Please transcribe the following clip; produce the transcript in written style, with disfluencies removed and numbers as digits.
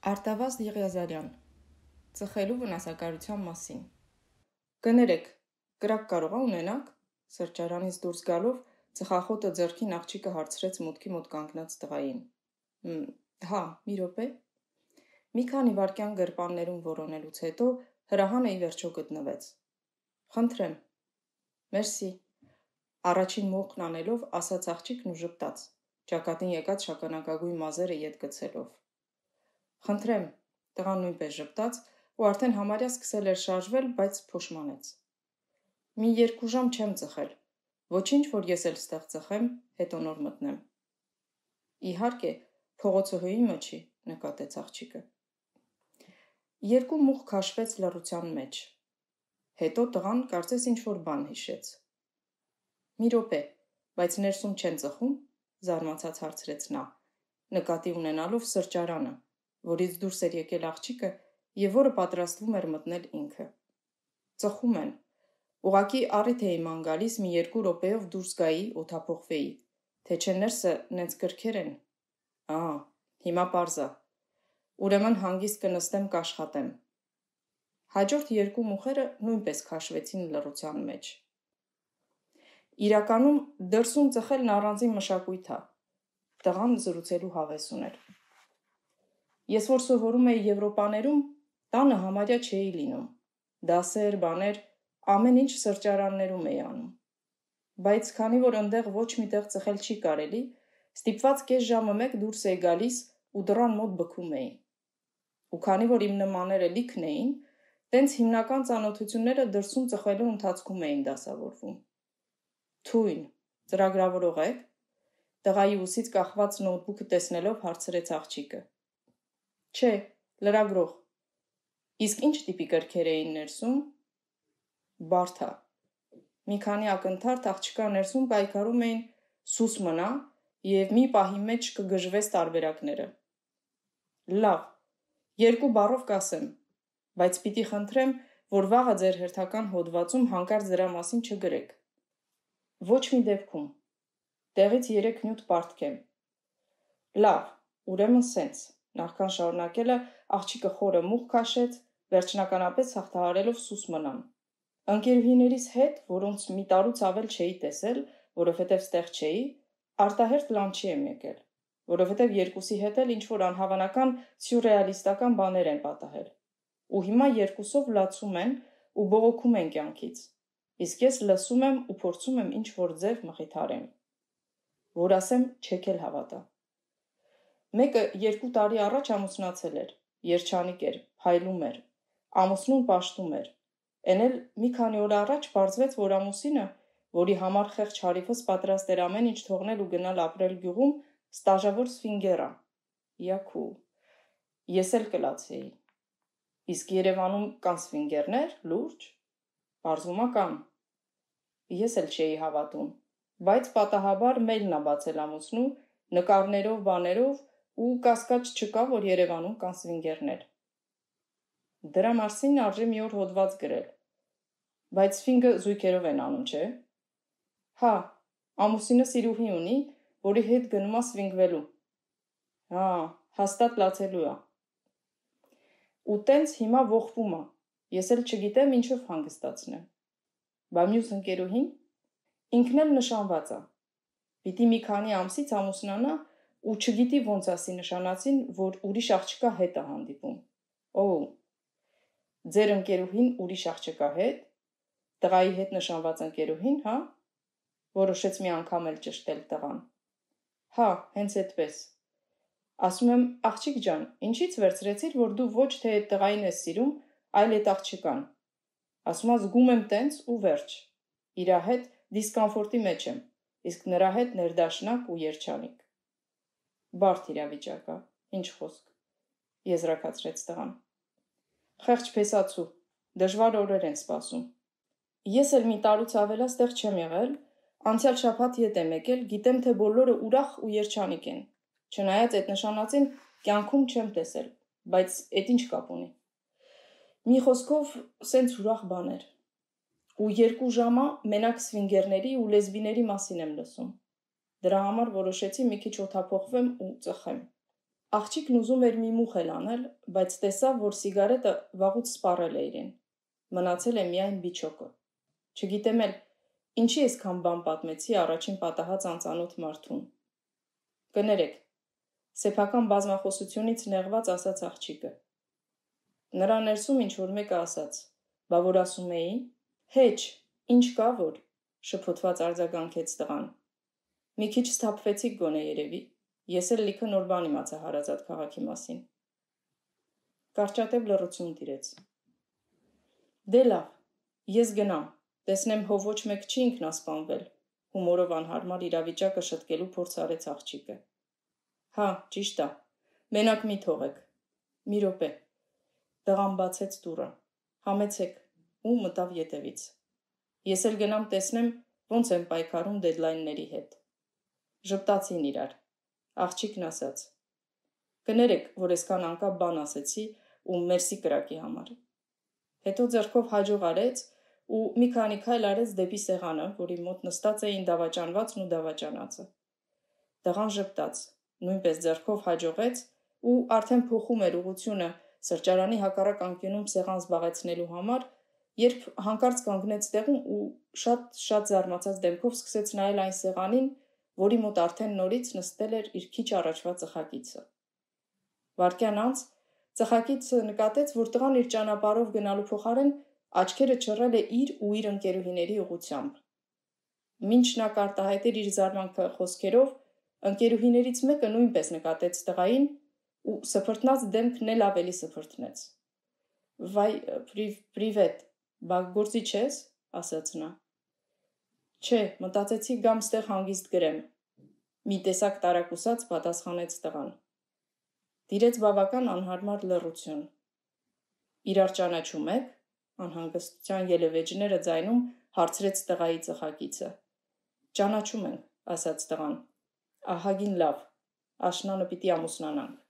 Արտավազդ Եղիազարյան, ծխելու վնասակարության մասին։ Կներեք, կրակ կարող ունենաք, սրճարանից դուրս գալով ծխախոտը ձեռքին աղջիկը հարցրեց մուտքի մոտ կանգնած տղային։ Հա, մի րոպե։ Մի քանի վայրկյան գրպաններում որոնելուց հետո հրահանը ի վերջո գտնվեց։ Խնդրեմ։ Մերսի։ Առաջին մոխն անելով ասաց աղջիկն ու ժպտաց, ճակատին եկած շագանակագույն մազերը ետ գցելով։ Խնդրեմ, տղան նույնպես ժպտաց ու արդեն համարյա սկսել էր շարժվել, բայց փոշմանեց։ Մի 2 ժամ չեմ ծխել, ոչինչ, որ ես էլ ստեղ ծխեմ, հետո նոր մտնեմ։ Իհարկե, փողոցը հույիմը չի, նկատեց աղջիկը։ 2 մուխ քաշվեց լռության մեջ։ Հետո տղան կարծես ինչ-որ բան հիշեց։ Մի րոպե, բայց ներսում չեն ծխում, զարմացած հարցրեց նա, նկատի ունենալով սրճարանը, որից դուրս էր եկել աղջիկը և որը պատրաստվում էր մտնել ինքը։ Ծխում են, ուղղակի առիթ էի ման գալիս մի 2 րոպեով դուրս գայի, օդափոխվեի, թե չէ ներսը նենց կրքեր են։ Հիմա պարզ ա։ Ուրեմն հանգիստ կնստեմ կաշխատեմ։ Հաջորդ 2 մուխերը նույնպես քաշվեցին լռության մեջ։ Իրականում դրսում ծխելն առանձին մշակույթ ա, տղան զրուցելու հավես ուներ։ Ես որ սովորում էի Եվրոպաներում, տանը համարյա չէի լինում, դասեր, բաներ, ամեն ինչ սրճարաններում էի անում։ Բայց քանի որ ընդեղ ոչ միտեղ ծխել չի կարելի, ստիպված կես ժամը մեկ դուրս էի գալիս ու դռան մոտ բքում էի։ Ու քանի որ իմ նմանները լիքն էին, տենց հիմնական ծանոթությունները դրսում ծխելու ընթացքում էին դասավորվում։ Թույն, ծրագրավորող եք։ Տղայի ուսից կախված նոթբուքը տեսնելով հարցրեց աղջիկը։ Չէ, լրագրող։ Իսկ ինչ տիպի կրքեր էին ներսում։ Բարդ ա։ Մի քանի ակնթարթ աղջկա ներսում պայքարում էին սուս մնա և մի պահի մեջ կգժվես տարբերակները։ Լավ, 2 բառով կասեմ, բայց պիտի խնդրեմ, որ վաղը ձեր հերթական հոդվածում հանկարծ դրա մասին չգրեք։ Ոչ մի դեպքում։ Տեղից 3 նյութ պարտքեմ։ Լավ, ուրեմն սենց, նախքան շարունակելը աղջիկը խորը մուխ քաշեց, վերջնականապես հաղթահարելով սուս մնան։ Ընկերուհիներիս հետ, որոնց մի տարուց ավել չէի տեսել, որովհետև ստեղ չէի, արտահերթ լանչի եմ եկել, որովհետև երկուսի հետ էլ ինչ-որ անհավանական սյուրռեալիստական բաներ են պատահել։ Ու հիմա երկուսով լացում են ու բողոքում են կյանքից, իսկ ես լսում եմ ու փորձում եմ ինչ-որ ձև մխիթարեմ։ Որ ասեմ, չեք էլ հավատա։ Մեկը 2 տարի առաջ ամուսնացել էր, երջանիկ էր, փայլում էր, ամուսնուն պաշտում էր։ Էն էլ մի քանի օր առաջ պարզվեց, որ ամուսինը, որի համար խեղճ հարիվս պատրաստ էր ամեն ինչ թողնել ու գնալ ապրել գյուղում, ստաժավոր սվինգեր ա։ Յաքու։ Ես էլ կլացեի։ Իսկ Երևանում կան սվինգերներ, լուրջ։ Պարզվում ա կան։ Ես էլ չէի հավատում, բայց պատահաբար մեյլն ա բացել ամուսնու, նկարներով, բաներով ու կասկած չկա, որ Երևանում կան սվինգերներ։ Դրա մասին արժի մի օր հոդված գրել։ Բայց սվինգը զույգերով են անում, չէ։ Հա, ամուսինը սիրուհի ունի, որի հետ գնում ա սվինգվելու։ Հա, հաստատ լացելու ա։ Ու տենց հիմա ողբում ա, ես էլ չգիտեմ ինչով հանգստացնեմ։ Բա մյուս ընկերուհին։ Ինքն էլ նշանված ա։ Պիտի մի քանի ամսից ամուսնանա ու չգիտի ոնց ասի նշանածին, որ ուրիշ աղջկա հետ ա հանդիպում։ Ձեր ընկերուհին ուրիշ աղջկա հետ։ Տղայի հետ նշանված ընկերուհին, հա։ Որոշեց մի անգամ էլ ճշտել տղան։ Հա, հենց այդպես։ Ասում եմ, աղջիկ ջան, ինչից վերցրեցիր, որ դու ոչ թե այդ տղային ես սիրում, այլ այդ աղջկան։ Ասում ա զգում եմ տենց ու վերջ։ Իրա հետ դիսկոմֆորտի մեջ եմ, իսկ նրա հետ ներդաշնակ ու երջանիկ։ Բարդ իրավիճակ ա, ինչ խոսք, եզրակացրեց տղան։ Խեղճ փեսացու, դժվար օրեր են սպասում։ Ես էլ մի տարուց ավելա ստեղ չեմ եղել, անցյալ շաբաթ ետ եմ եկել, գիտեմ, թե բոլորը ուրախ ու երջանիկ են։ Չնայած այդ նշանածին կյանքում չեմ տեսել, բայց էդ ինչ կապ ունի։ Մի խոսքով, սենց ուրախ բաներ։ Ու 2 ժամա մենակ սվինգերների ու լեսբիների մասին եմ լսում։ Դրա համար որոշեցի մի քիչ օդափոխվեմ ու ծխեմ։ Աղջիկն ուզում էր մի մուխ էլ անել, բայց տեսավ, որ սիգարետը վաղուց սպառել է իրեն։ Մնացել է միայն բիչոկը։ Չգիտեմ էլ, ինչի այսքան բան պատմեցի առաջին պատահած անծանոթ մարդուն։ Կներեք, սեփական բազմախոսությունից նեղված ասաց աղջիկը։ Նրա ներսում ինչ-որ մեկը ասաց. «Բա որ ասում էի»։ «Հեչ, ինչ կա որ», շփոթված արձագանքեց տղան։ «Մի քիչ սթափվեցիք գոնե երևի, ես էլ լիքը նոր բան իմացա հարազատ քաղաքի մասին»։ Կարճատև լռություն տիրեց։ «Դե լավ, ես գնամ, տեսնեմ հո ոչ մեկ չի ինքնասպանվել», հումորով անհարմար իրավիճակը շտկելու փորձ արեց աղջիկը։ «Հա, ճիշտ ա, մենակ մի թողեք»։ «Մի րոպե»։ Տղան բացեց դուռը։ «Համեցեք» ու մտավ ետևից։ «Ես էլ գնամ տեսնեմ, ոնց են պայքարում դեդլայնների հետ»։ Ժպտացին իրար։ Աղջիկն ասաց. «Կներեք, որ այսքան անկապ բան ասեցի ու մերսի կրակի համար»։ Հետո ձեռքով հաջող արեց ու մի քանի քայլ արեց դեպի սեղանը, որի մոտ նստած էին դավաճանվածն ու դավաճանածը։ Տղան ժպտաց, նույնպես ձեռքով հաջողեց ու արդեն փոխում էր ուղղությունը սրճարանի հակառակ անկյունում սեղան զբաղեցնելու համար, երբ հանկարծ կանգնեց տեղում ու շատ զարմացած դեմքով սկսեց նայել այն սեղանին, որի մոտ արդեն նորից նստել էր իր քիչ առաջվա ծխակիցը։ Վայրկյան անց ծխակիցը նկատեց, որ տղան իր ճանապարհով գնալու փոխարեն աչքերը չռել է իր ու իր ընկերուհիների ուղղությամբ։ Մինչ նա կարտահայտեր իր զարմանքը խոսքերով, ընկերուհիներից մեկը նույնպես նկատեց տղային ու սփռտնած դեմքն էլ ավելի սփռտնեց։ «Վայ, պրիվետ, բա գործի չես», ասաց նա։ «Չէ, մտածեցի գամ ստեղ հանգիստ գրեմ», մի տեսակ տարակուսած պատասխանեց տղան։ Տիրեց բավական անհարմար լռություն։ «Իրար ճանաչում եք», անհանգստության ելևէջները ձայնում հարցրեց տղայի ծխակիցը։ «Ճանաչում ենք», ասաց տղան։ «Ահագին լավ, աշնանը պիտի ամուսնանանք»։